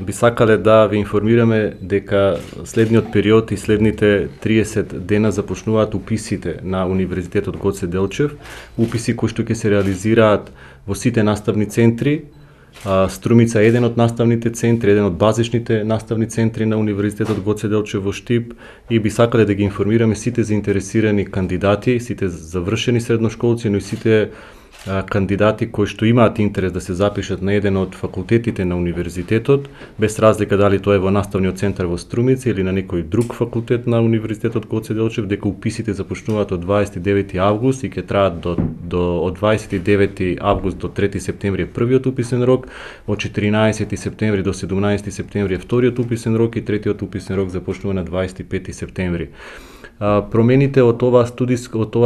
би сакале да ви информираме дека следниот период и следните 30 дена започнуваат уписите на Универзитетот Гоце Делчев, уписи кои што ќе се реализираат во сите наставни центри. Струмица е еден од наставните центри, еден од базичните наставни центри на Универзитетот Гоце Делчев во Штип, и би сакале да ги информираме сите заинтересирани кандидати, сите завршени средношколци, но и сите кандидати кои што имаат интерес да се запишат на еден од факултетите на универзитетот, без разлика дали тоа е во наставниот центар во Струмица или на некој друг факултет на Универзитетот Гоце Делчев, дека уписите започнуваат од 29 август и ќе траат од 29 август до 3 септември е првиот уписен рок, од 14 септември до 17 септември е вториот уписен рок и третиот уписен рок започнува на 25 септември. Промените од оваа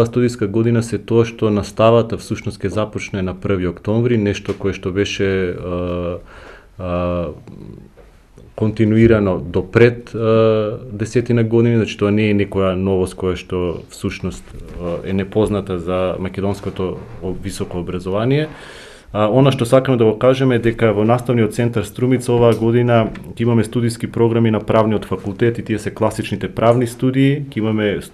студиска година се тоа што наставата всушност ќе започне на 1 октомври, нешто кое што беше континуирано до пред 10 години, значи тоа не е некоја новост која што всушност е непозната за македонското високо образование. Она што сакаме да го кажеме е дека во наставниот центар Струмица оваа година ќе имаме студиски програми на правниот факултет и тие се класичните правни студии, ќе имаме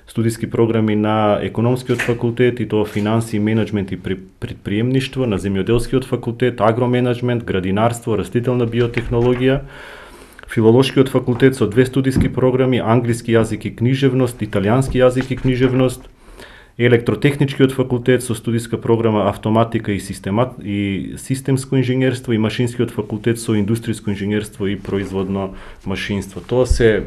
студиски програми на економскиот факултет и тоа финансии, менеджмент и предприемништво, на земјоделскиот факултет, агроменеджмент, градинарство, растителна биотехнологија, филолошкиот факултет со 2 студиски програми, англиски јазик и книжевност, италијански јазик и книжевност, електротехничкиот факултет со студиска програма автоматика и системско инженерство и машинскиот факултет со индустријско инженерство и производно машинство. Тоа се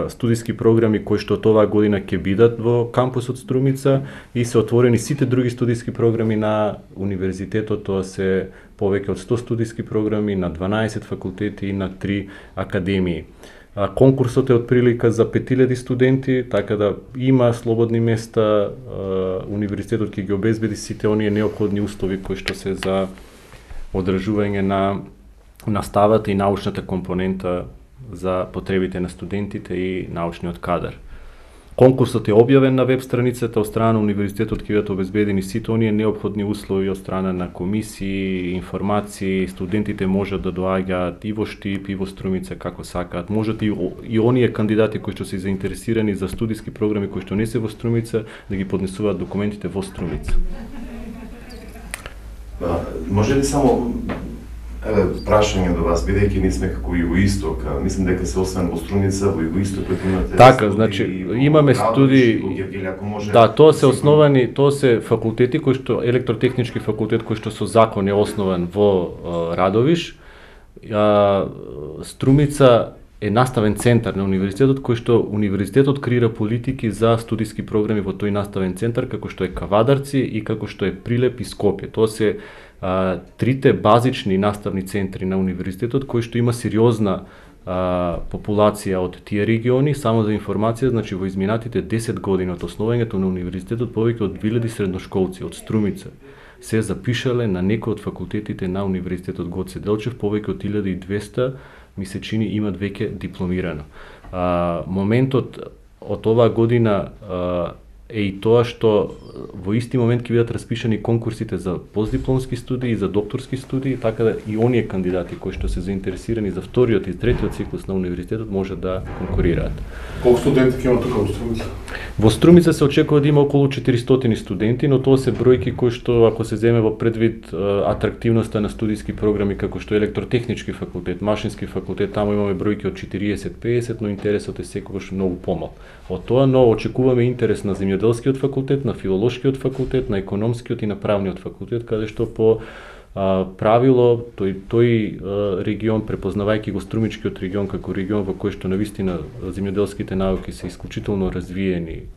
студиски програми кои што оваа година ќе бидат во кампусот Струмица и се отворени сите други студиски програми на универзитетот. Тоа се повеќе од 100 студиски програми на 12 факултети и на 3 академии. Конкурсот е од прилика за 5000 студенти, така да има слободни места, универзитетот ќе ги обезбеди сите оние неопходни услови кои што се за одржување на наставата и научната компонента за потребите на студентите и научниот кадар. Конкурсот е објавен на веб страницата од страна на универзитетот, ќе бидат обезбедени сите оние неопходни услови од страна на комисии, информации, студентите можат да доаѓаат и во Штип и во Струмица како сакаат. Можат и оние кандидати кои што се заинтересирани за студиски програми кои што не се во Струмица да ги поднесуваат документите во Струмица. Може ли само прашање до вас, бидејќи ние сме како Југоисток, мислам дека се освен во Струмица, во Југоистокот имате... Така, значи, имаме студии... Да, тоа се основани, тоа се факултети кои што, електротехнички факултет кој што со закон е основан во Радовиш. Струмица е наставен центар на универзитетот кој што универзитетот креира политики за студиски програми во тој наставен центар, како што е Кавадарци и како што е Прилеп и Скопје. Тоа се трите базични наставни центри на универзитетот кои што има сериозна популација од тие региони. Само за информација, значи во изминатите 10 години од основањето на универзитетот повеќе од 2000 средношколци од Струмица се запишале на некој од факултетите на Универзитетот Гоце Делчев, повеќе од 1200 ми се чини имат веќе дипломирано. Моментот од оваа година е и тоа што во исти момент ќе бидат распишани конкурсите за постдипломски студии и за докторски студии, така да и оние кандидати кои што се заинтересирани за вториот и третиот циклус на универзитетот може да конкурираат. Колку студенти ќе има тука во Струмица? Во Струмица се очекува да има околу 400 студенти, но тоа се бројки кои што ако се земе во предвид атрактивноста на студиски програми како што електротехнички факултет, машински факултет, таму имаме бројки од 40-50, но интересот е секогаш многу помал. Од тоа, но очекуваме интерес на земјоделскиот факултет, на филолошкиот факултет, на економскиот и на правниот факултет, каде што по правило тој регион, препознавајќи го Струмичкиот регион како регион во кој што навистина земјоделските науки се исклучително развиени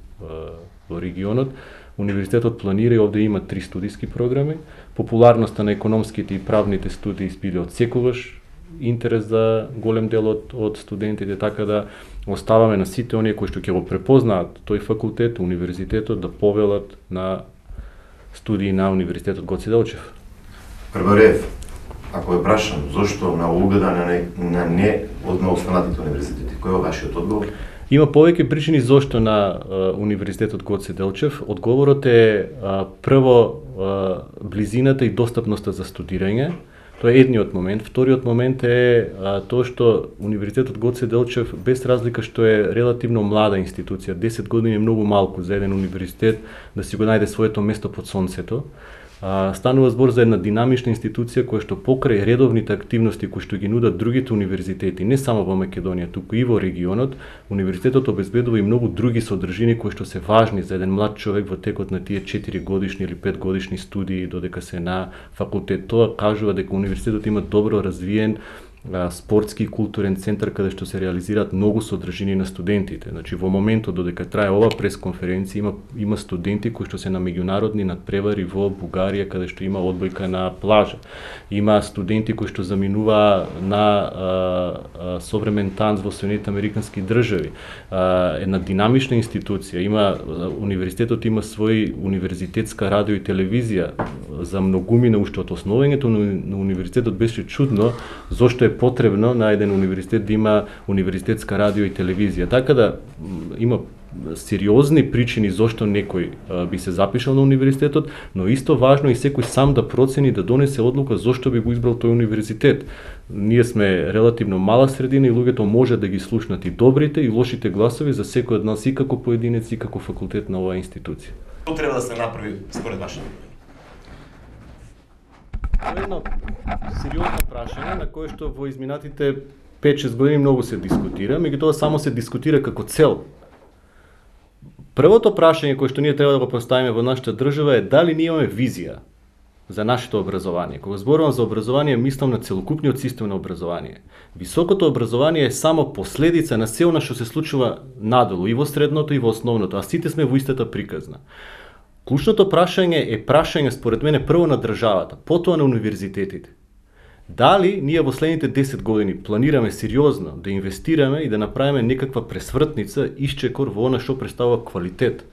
во регионот, универзитетот планира и овде има 3 студиски програми. Популарноста на економските и правните студии биле од секогаш интерес за голем дел од студентите, така да оставаме на сите оние кои што ќе го препознаат тој факултет, универзитетот да повелат на студии на Универзитетот Гоце Делчев. Прварев, ако е прашам зошто на угода на не од останатите универзитети, кој е вашиот одговор? Има повеќе причини зошто на Универзитетот Гоце Делчев. Одговорот е прво близината и достапноста за студирање. Тоа е едниот момент. Вториот момент е тоа што Универзитетот Гоце Делчев, без разлика што е релативно млада институција, 10 години е многу малку за еден универзитет да си го најде своето место под сонцето. Станува збор за една динамична институција која што покрај редовните активности кои што ги нудат другите универзитети, не само во Македонија, туку и во регионот, универзитетот обезбедува и многу други содржини кои што се важни за еден млад човек во текот на тие 4 годишни или 5 годишни студии додека се на факултет. Тоа кажува дека универзитетот има добро развиен спортски и културен центар каде што се реализираат многу содржини на студентите. Значи во моментот додека трае ова пресконференција има студенти кои што се на меѓународни надпревари во Бугарија каде што има одбојка на плажа. Има студенти кои што заминува на современ танц во Соединетите Американски држави. Една динамична институција, универзитетот има свој универзитетска радио и телевизија. За многумина уште од основањето на универзитетот беше чудно зошто е потребно на еден универзитет да има универзитетска радио и телевизија. Така да има сериозни причини зошто некој би се запишал на универзитетот, но исто важно и секој сам да процени, да донесе одлука зошто би го избрал тој универзитет. Ние сме релативно мала средина и луѓето може да ги слушнат и добрите и лошите гласови за секој од нас и како поединец и како факултет на оваа институција. Што треба да се направи според вашето? Тоа е едно сериозно прашање на кое што во изминатите 5-6 години многу се дискутира, меѓутоа само се дискутира како цел. Првото прашање кое што ние треба да го поставиме во нашата држава е дали ние имаме визија за нашето образование. Кога зборувам за образование, мислам на целокупниот систем на образование. Високото образование е само последица на се она што се случува надолу, и во средното и во основното, а сите сме во истата приказна. Клучното прашање е прашање според мене прво на државата, потоа на универзитетите. Дали ние во следните 10 години планираме сериозно да инвестираме и да направиме некаква пресвртница, исчекор во она што представува квалитет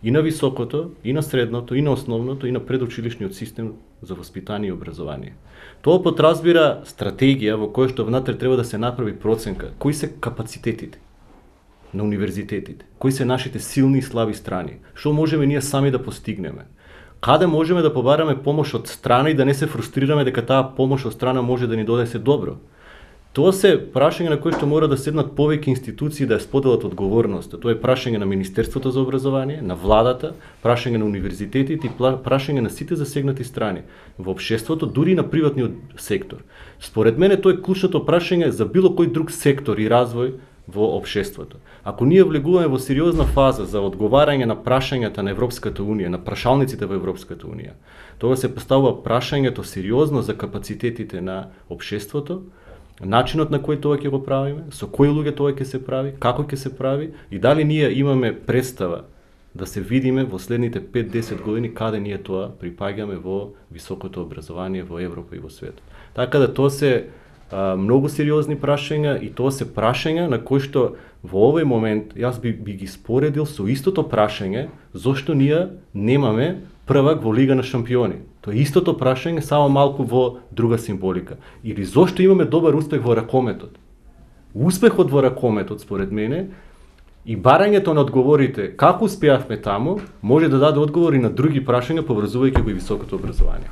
и на високото, и на средното, и на основното, и на предучилишниот систем за воспитание и образование. Тоа подразбира стратегија во која што внатре треба да се направи проценка кои се капацитетите на универзитетите, кои се нашите силни и слаби страни, што можеме ние сами да постигнеме, каде можеме да побараме помош од страна и да не се фрустрираме дека таа помош од страна може да ни донесе добро. Тоа се прашање на кои што мора да седнат повеќе институции да ја споделат одговорноста. Тоа е прашање на Министерството за образование, на владата, прашање на универзитетите и прашање на сите засегнати страни во општеството, дури и на приватниот сектор. Според мене тоа е клучното прашање за било кој друг сектор и развој во општеството. Ако ние влегуваме во сериозна фаза за одговарање на прашањата на Европската Унија, на прашалниците во Европската Унија, тоа се поставува прашањето сериозно за капацитетите на општеството, начинот на кој тоа ќе го правиме, со кои луѓе тоа ќе се прави, како ќе се прави и дали ние имаме представа да се видиме во следните 5-10 години каде ние тоа припаѓаме во високото образование во Европа и во светот. Така да тоа се многу сериозни прашања и тоа се прашања на кои што во овој момент јас би ги споредил со истото прашање зошто ние немаме првак во Лига на шампиони. Тоа е истото прашање, само малку во друга символика. Или зошто имаме добар успех во ракометот? Успехот во ракометот, според мене, и барањето на одговорите како успеавме таму, може да даде одговори на други прашања поврзувајќи го и високото образование.